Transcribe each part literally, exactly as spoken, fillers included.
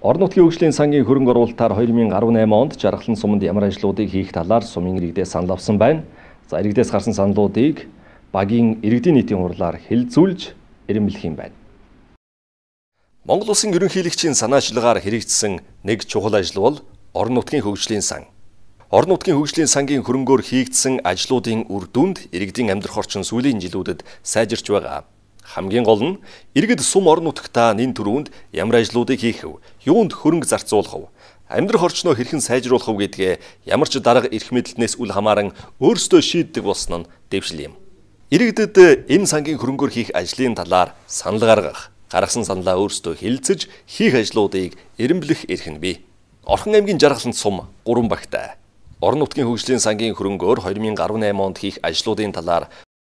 Орон нутгийн хөгжлийн сангийн хөрөнгө оруулалтаар две тысячи десять онд Жаргалан суманд ямар ажлуудыг хийх талаар сумын иргэдээс санал авсан байна. За иргэдээс гарсан саналуудыг багийн иргэдийн нийтийн хурлаар хэлэлцүүлж ирэмблэх юм байна. Монгол Улсын ерөнхийлөгчийн санаачлагаар хэрэгжсэн нэг чухал ажил бол орон нутгийн хөгжлийн сан. Орон нутгийн хөгжлийн сангийн хөрөнгөөр хийгдсэн ажлуудын үр дүнд иргэдийн амьдрах орчин сүүлийн жилүүдэд сайжирч байгаа. Хамгийн гол нь иргэд сум орон нутагтаа нэн төрөнд ямар ажлуудыг хийх вэ? Юунд хөрөнгө зарцуулах вэ? Амьдрах орчноо хэрхэн сайжруулах вэ гэдгээ ямар ч дарга эрх мэдэлтнээс үл хамааран өөрсдөө шийддэг болсон нь дэвшил юм. Иргэдэд энэ сангийн хөрөнгөөр хийх ажлын талаар санал гаргах, гаргасан саналаа өөрсдөө хэлэлцэж хийх ажлуудыг эренблэх эрх нь бий. Орхон аймгийн Жаргаланд сум гурван багтай. Орон нутгийн хөгжлийн сангийн хөрөнгөөр две тысячи десять онд хийх ажлуудын талаар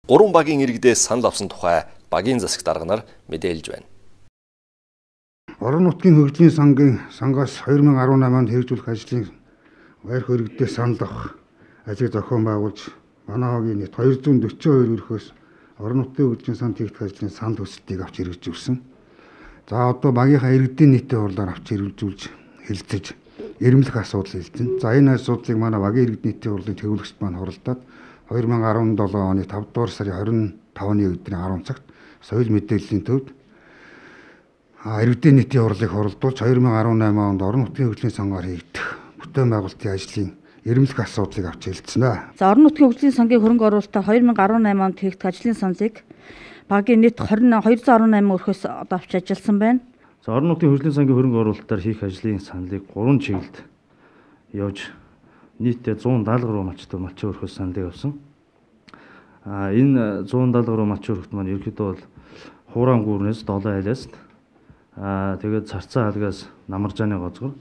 гурван багийн иргэдээс санал авсан тухай багийн засаг дарга нар мэдээлж байна. Орон нутгийн хөгжлийн сангийн сангаас две тысячи десять онд хэрэгжүүлэх ажлын байр хөрөгдөөс санал авах ажлыг зохион байгуулж манай хогийн нийт two hundred forty-two өрхөөс орон нутгийн хөгжлийн санд хийгдэх ажлын санал хүсэлтийг авч хэрэгжүүлсэн. За одоо багийнхаа иргэдийн нийтийн хурлаар авч хэрэгжүүлж хэлэлцэж эренблэх асуудал хэлсэн. За энэ асуудлыг манай багийн иргэдийн нийтийн хурлын төвлөгчд маань хуралдаад две тысячи десять оны five дугаар сарын twenty-five-ны өдрийн ten цагт соёл мэдээллийн төвд иргэдийн нийтийн хурлыг хуралдуулж две тысячи десять онд орон нутгийн хөгжлийн сангаар хийгдэх бүтээн байгуулалтын ажлын эренблэх асуудлыг авч хэлсэн байна. За орон нутгийн хөгжлийн сангийн хөрөнгө оруулалтаар две тысячи десять онд хийгдэх ажлын саналыг багийн нийт two hundred eighty-eight өрхөөс одоо авч ажилласан байна. За орон нутгийн хөгжлийн сангийн хөрөнгө оруулалтаар хийх ажлын саналыг гурван чиглэлд явж нийтдээ one seventy гаруй малчтай малчин өрхөөс саналыг авсан. А энэ one seventy гаруй малчин өрхөд маань ерөнхийдөө бол хуурайн гүүрнээс долоо айлаас аа тэгээд царцаа хаалгаас намаржааны гоцгор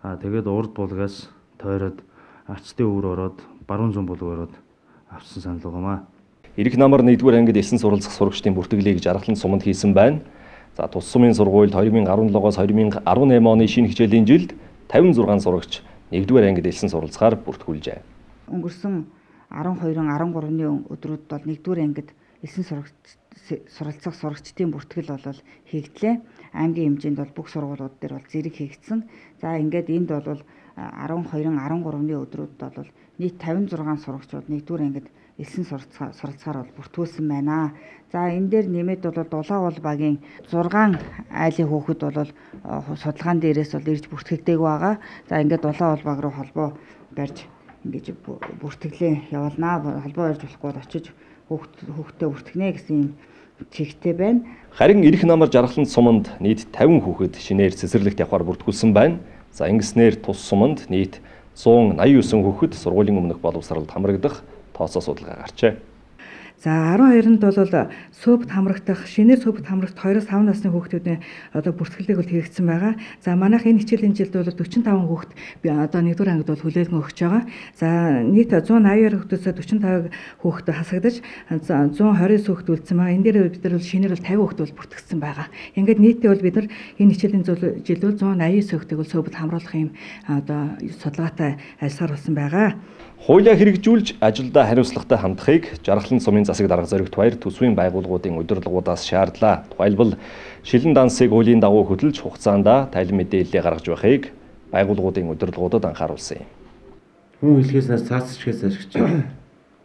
аа тэгээд урд булгаас тойроод арцтын өвөр ороод баруун зүүн булг ороод авсан санал байгаамаа. Ирэх намар нэгдүгээр ангид элсэн суралцах сурагчдын бүртгэлийг Жаргалан суманд хийсэн байна. За тус сумын сургуульд две тысячи seventeen-оос две тысячи eighteen оны шинэ хичээлийн жилд fifty-six сурагч нэгдүгээр ангид элсэн суралцахаар бүртгүүлжээ. Өнгөрсөн twelve13-ны өдрүүд бол нэгдүгээр ангид элсэн суралцах сурагчдын бүртгэл бол хийгдлээ. Аймгийн хэмжээнд бол бүх сургуулиуд дээр бол зэрэг хийгдсэн. За ингээд энд бол twelve13-ны өдрүүд бол нийт fifty-six сурагчид нэгдүгээр ангид элсэн суралцахаар бол бүртгүүлсэн байна. За энэ дээр нэмээд бол Дулаавал багийн six айлын хүүхэд бол судалгаан дээрээс бол ирж бүртгэгдээг байгаа. За ингээд Дулаавал баг руу холбоо барьж ингэж бүртгэлээ явуулнаа. Холбоо барьж болохгүй бол очиж хүүхдээ бүртгэнэ гэсэн юм чигтэй байна. Харин ирэх намар Жаргалан суманд нийт fifty хүүхэд шинээр цэцэрлэгт явахаар бүртгүүлсэн байна. За ингэснээр тус суманд нийт one eighty-nine хүүхэд сургуулийн өмнөх боловсролд хамрагдах тооцоо судалгаа гарчээ. За twelve-нд бол сөөбт хамрагдах, шинээр сөөбт хамрагт two-five насны хүүхдүүдийн одоо бүртгэлийг бол хийгдсэн байгаа. За манайх энэ хичээлийн жилд бол forty-five хүүхд би одоо нэгдүгээр ангид бол хүлээлгэн өгч байгаа. За нийт one eighty хүүхдөөс forty-five хүүхд хасагдаж one twenty-nine хүүхд үлдсэн байгаа. Энэ дээр бид нар бол шинээр бол fifty хүүхд бол бүртгэгдсэн байгаа. Ингээд нийтдээ бол бид нар энэ хичээлийн жил бол one eighty-nine хүүхдийг бол сөөбт хамруулах юм одоо судалгаатай ажилласаар болсон байгаа. Хуулиа хэрэгжүүлж ажилдаа хариуцлагатай хандахыг Жаргалан сумын засаг дарга зоригт баяр төсвийн байгууллагуудын удирдлагуудаас шаардлаа. Тухайлбал шилэн дансыг хуулийн дагуу хөдөлж хугацаанд тайлан мэдээлэл гаргаж байхыг байгууллагуудын удирдлагуудад анхааруулсан юм. Хүн хэлхээснээс цаасчгээс ашигч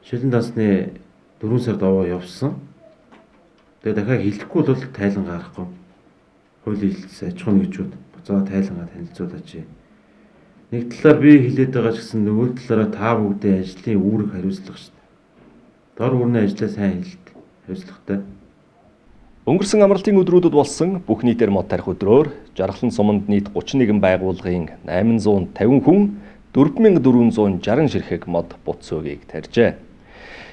шилэн дансны four сард овоо явсан. Тэгээ дахиад хэлэхгүй бол тайлан гарахгүй. Хуулийн хэлсэн аж ахуйн нэгжүүд буцаа тайлангаа танилцуулаач. Нэг талаар би хэлээд байгаа ч гэсэн нөгөө талаараа та бүгдээ ажлын үүрэг хариуцлага шүү дээ. Дор бүрний ажлаа сайн хэлэлт хариуцлагатай. Өнгөрсөн амралтын өдрүүдэд болсон бүх нийтээр мод тарих өдрөөр Жаргалан суманд нийт thirty-one байгууллагын eight hundred fifty хүн four thousand four hundred sixty ширхэг мод бут цөөгийг тарьжээ.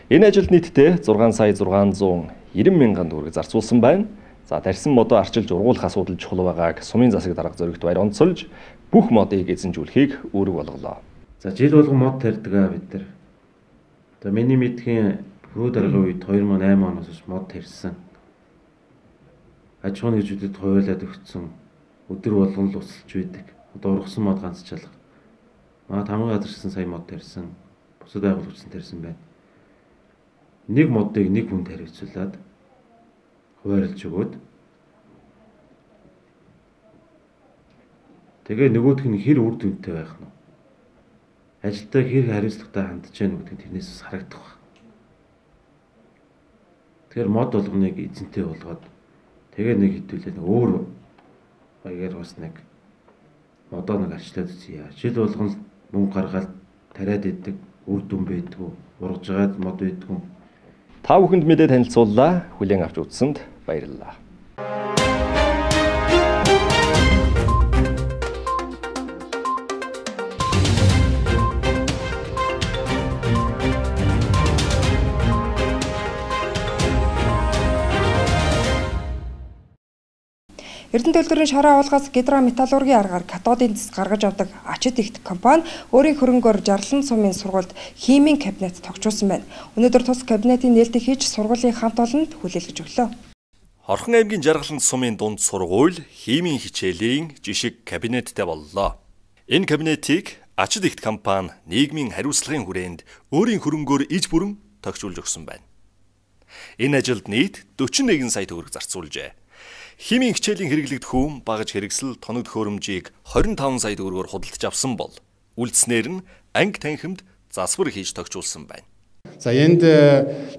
Энэ ажилд нийтдээ six сая six hundred ninety мянган төгрөг зарцуулсан байна. За тарьсан модоо арчилж ургуулах асуудал чухал байгааг сумын засаг дарга зоригт баяр онцолж бүх модыг эзэмжүүлэхийг үүрэг болголоо. За жил болгон мод тарьдаг аа бид нар. За миний мэдхийн хөрөө даргын үед two thousand eight оноос хойш мод тарьсан. Аж ахуйн нэгжүүдэд хуваалаад өгсөн. Өдөр болгон л усалж байдаг. Одоо ургасан мод ганц чалга. Маа тамга газарсан сая мод тарьсан. Бусад байгууллагчсан тарьсан байна. Нэг модыг нэг хүн тариуцуулаад хуваарлж өгөөд Тэгээ нөгөөх нь хэр үр дүнтэй байх нь. Ажилтаа хэр хариуцлагатай хандж яах нь гэдгийг тэрнээс бас харагдах байна. Тэгэхээр мод болгоныг эзэнтэй болгоод тэгээ нэг хэдүүлээ өөр баягаар бас нэг модоо нэг арчлаад үзье. Жил болгон мөнгө гаргаад тариад иддэг үр дүн байдгүй, ургажгаад мод байдгүй. Та бүхэнд мэдээ танилцууллаа. Хүлээн авч үзсэнд баярлалаа. Эрдэнэ төлөвлөрийн шороо агуулгаас гидрометаллургийн аргаар катодын цэс гаргаж авдаг Ачид ихт компани өөрийн хөрөнгөөр Жарлан сумын сургуульд химийн кабинет тогтжуулсан байна. Өнөөдөр тус кабинетийн нээлтийг хийж сургуулийн хамт олонд хүлээлгэж өглөө. Орхон аймгийн Жаргалан сумын дунд сургууль химийн хичээлийн жишг кабинеттэй боллоо. Энэ кабинетийг Ачид ихт компани нийгмийн хариуцлагын хүрээнд өөрийн хөрөнгөөр иж бүрэн тогтжуулж өгсөн байна. Энэ ажилд нийт дөрвөн нэгэн сая төгрөг зарцуулжээ. Химийн хичээлийн хэрэглэгдэх хүм багаж хэрэгсэл тоног төхөөрөмжийг двадцать пять сая төгрөгөөр худалдаж авсан бол үлдснээр нь анги танхимд засвар хийж тогтжуулсан байна. За энд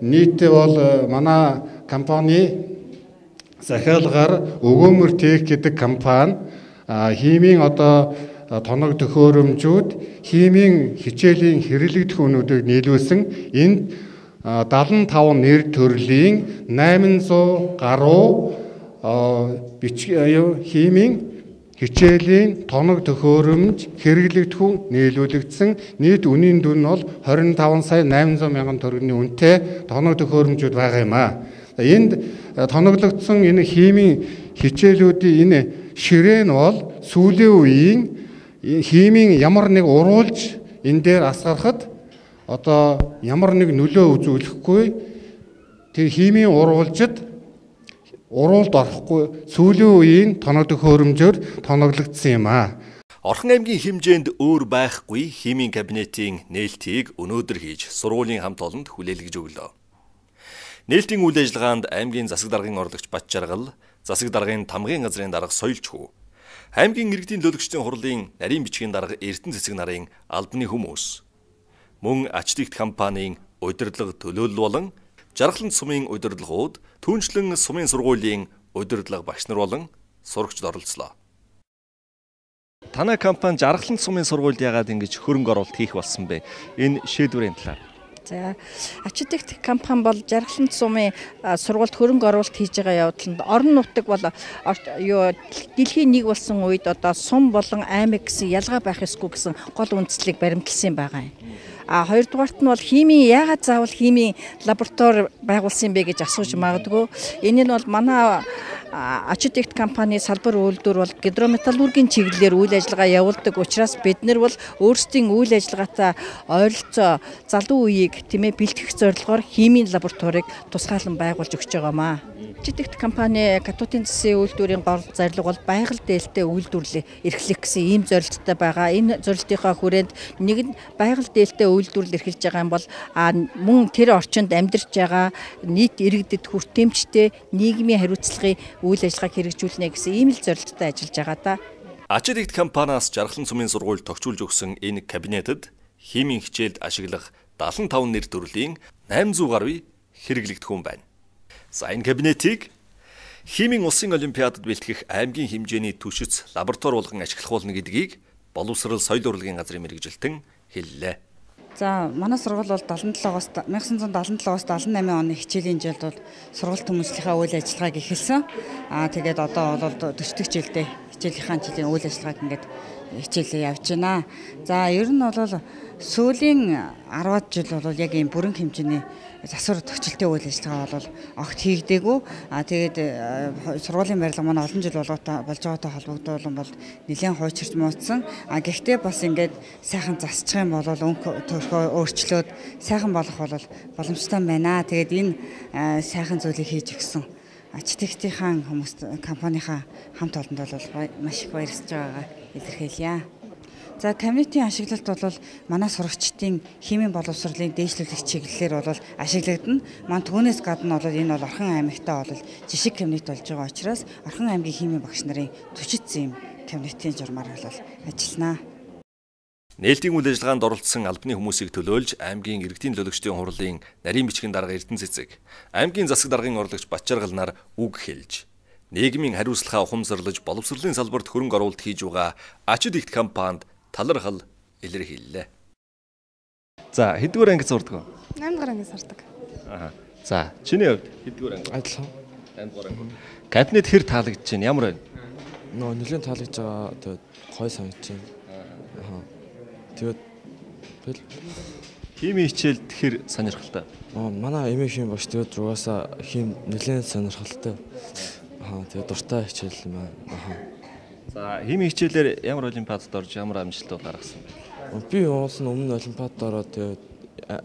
нийтдээ бол манай компани захиалгаар Өгөөмөр Тех гэдэг компани химийн одоо тоног төхөөрөмжүүд химийн хичээлийн хэрэглэгдэх хүнүүдийг нийлүүлсэн энд седемдесет и пять нэр төрлийн восемьсот гаруй химийн хичээлийн тоног төхөөрөмж хэрэглэгдэх хүн нийлүүлэгдсэн нийт үнийн дүн нь бол двадцать пять сая восемьсот мянган төгрөгийн үнэтэй тоног төхөөрөмжүүд байгаа юм аа. Энд тоноглогдсон энэ химийн хичээлүүдийн энэ ширээ нь бол сүүлийн үеийн химийн ямар нэг уруулж энэ дээр асгарахад одоо ямар нэг нөлөө үзүүлэхгүй тэр химийн уруулжид уруулд орохгүй сүүлийн үеийн тоног төхөөрөмжөөр тоноглогдсон юм аа. Орхон аймгийн хэмжээнд өөр байхгүй химийн кабинетийн нээлтийг өнөөдөр хийж сургуулийн хамт олонд хүлээлгэж өглөө. Нээлтийн үйл ажиллагаанд аймгийн засаг даргын орлогч Бат Жаргал, засаг даргын тамгын газрын дарга Соёлч хүү, аймгийн иргэдийн төлөөлөгчдийн хурлын нарийн бичгийн дарга Эрдэнэ цэцэг нарын албаны хүмүүс, мөн Ачид ихт компанийн удирдлага төлөөлөл болон Жаргалан сумын удирдлагууд түүнчлэн сумын сургуулийн удирдлага багш нар болон сурагчид оролцлоо. Танай компани Жаргалан сумын сургуульд яагаад ингэж хөрөнгө оруулалт хийх болсон бэ? Энэ шийдвэрийн талаар. За Ачид ихт компани бол Жаргалан сумын сургуульд хөрөнгө оруулалт хийж байгаа явдланд орон нутаг бол юу дэлхийн нэг болсон үед одоо сум болон аймаг гэсэн ялгаа байх ёсгүй гэсэн гол үндслийг баримтлсан байгаа юм. А хоёрдугаарт нь бол химийн яагаад заавал химийн лаборатори байгуулсан бэ гэж асууж магадгүй. Энэ нь бол манай Ачид ихт компани салбар үйлдвэр бол гидрометаллургийн чиглэлээр үйл ажиллагаа явуулдаг учраас бид нар бол өөрсдийн үйл ажиллагаатай ойролцоо залуу үеийг тийм ээ бэлтгэх зорилгоор химийн лабораторийг тусгаалan байгуулж өгч байгаамаа. Ачид ихт компани катодын цэсийн үйлдвэрийн гол зорилго бол байгаль дээлтэй үйлдвэрлэлийг эрхлэх гэсэн ийм зорилттой байгаа. Энэ зорилтынхаа хүрээнд нэг нь байгаль дээлтэй үйлдвэрлэл эрхэлж байгаа юм бол мөн тэр орчинд амьдарч байгаа нийт иргэдэд хүртээмжтэй нийгмийн хариуцлагын үйл ажиллагааг хэрэгжүүлнэ гэсэн ийм л зорилттой ажиллаж байгаа да. Ачид ихт компаниас Жаргалан сумын сургуульд тогтжуулж өгсөн энэ кабинетэд химийн хичээлд ашиглах седемдесет и пять нэр төрлийн восемьсот гаруй хэрэглэгдэх хүн байна. За энэ кабинетийг химийн улсын олимпиадад бэлтгэх аймгийн хэмжээний түшиц лаборатори болгон ашиглах болно гэдгийг боловсрал соёл урлагийн газрын мэргэжилтэн хэллээ. За манай сургууль бол семьдесят и семь-аас мянга тогтсон семьдесят и семь-аас семьдесят и восемь оны хичээлийн жилд бол сургууль хүмүүжлийнхаа үйл ажиллагааг эхэлсэн. Аа тэгээд одоо бол forty дахь жилдээ хичээлийнхаа жилийн үйл ажиллагааг ингээд хичээлээ явж байна. За ер нь бол сүүлийн ten жил бол яг ийм бүрэн хэмжээний засвар төгсөлтийн үйл ажиллагаа бол огт хийгдээгүй. А тэгээд сургуулийн барилга манай олон жил болгоотой болж байгаатай холбогдуулан бол нэлээд хуучирч муудсан. А гэхдээ бас ингээд сайхан засчих юм бол өнгө төрхөө өөрчлөөд сайхан болох бол боломжтой байна. Тэгээд энэ сайхан зүйлийг хийж өгсөн Ачид ихтийн хүмүүст компанийнхаа хамт олонд бол маш их баярлж байгаагаа илэрхийлье. За кабинетийн ашиглалт бол манай сурагчдын химийн боловсролын дээшлүүлэх чиглэлээр бол ашиглагдана. Ман түүнээс гадна бол энэ бол Орхон аймагтаа бол жишг кабинет болж байгаа учраас Орхон аймгийн химийн багш нарын төчитсэн юм кабинетийн журмаар бол ажилланаа. Нээлтийн үйл ажиллагаанд оролцсон албаны хүмүүсийг төлөөлж аймгийн иргэдийн төлөөлөгчдийн хурлын нарийн бичгийн дарга Эрдэнэ Цэцэг, аймгийн засаг даргын орлогч Батчаргал нар үг хэлж, нийгмийн хариуцлагаа ухамсарлаж боловсролын салбарт хөрөнгө оруулалт хийж байгаа ачид ихт компанид талархал илэрхийллээ. За, хэдгээр анги сурдаг вэ? eight дугаар анги сурдаг. Аа. За, чиний хувьд хэдгээр анги? Адилхан. eight дугаар анги. Кабинет хэр таалагдж байна? Ямар байна? Нөө нэлээд таалагдж байгаа. Тэгээд гой санагдаж байна. Аа. Тэгээд бэл химийн хичээл тэгэхээр сонирхолтой. Аа, манай эмээ хим багш тэгээд угаасаа хим нэлээд сонирхолтой. Аа, тэгээд дуртай хичээл юм байна. Аа. За, химийн хичээлээр ямар олимпиадад орж ямар амжилтууд гаргасан бэ? Би уулын өмнө олимпиадад ороод тэгээд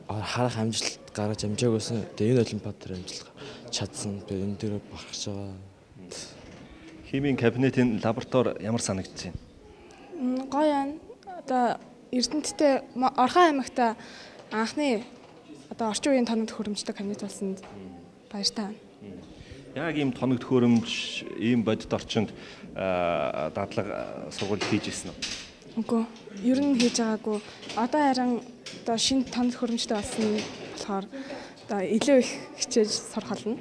харах амжилт гаргаж амжаагүйсэн. Тэгээд энэ олимпиад дээр амжилт чадсан. Би энэ дээр багч байгаа. Химийн кабинетийн лаборатори ямар санагдаж байна? Гоё байна. Одоо Эрдэнэттэй Орхон аймагта анхны одоо орчин үеийн тоног төхөөрөмжтэй кабинет болсонд баяртай байна. Яг ийм тоног төхөөрөмж, ийм бодит орчинд дадлага сургууль хийж ирсэн үү? Үгүй. Ер нь хийж байгаагүй. Одоо харин одоо шинэ тоног төхөөрөмжтэй болсон болохоор одоо илүү их хичээж сурах болно.